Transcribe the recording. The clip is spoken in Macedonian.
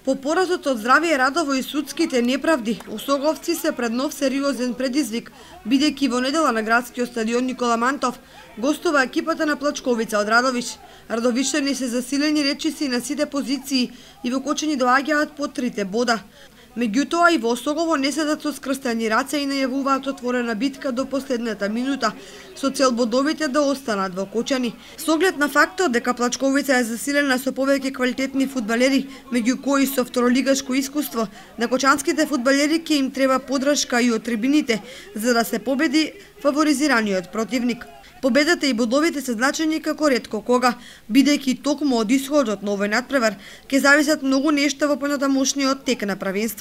По поразот од Здравје Радово и судските неправди, осоговци се пред нов сериозен предизвик, бидејќи во недела на градскиот стадион Никола Мантов гостува екипата на Плачковица од Радовиш. Радовишани се засилени речиси на сите позиции и вокочени доаѓаат по 3 бода. Меѓутоа и во Осогово не седат со скрстени раце и најавуваат отворена битка до последната минута, со цел бодовите да останат во кочани. Со оглед на фактот дека Плачковица е засилена со повеќе квалитетни фудбалери, меѓу кои со второлигашко искуство, на кочанските фудбалери ќе им треба подршка и од трибините, за да се победи фаворизираниот противник. Победата и бодовите се значени како ретко кога, бидејќи токму од исходот на овој натпревар ќе зависат многу нешта во понатамошниот тек на првенството.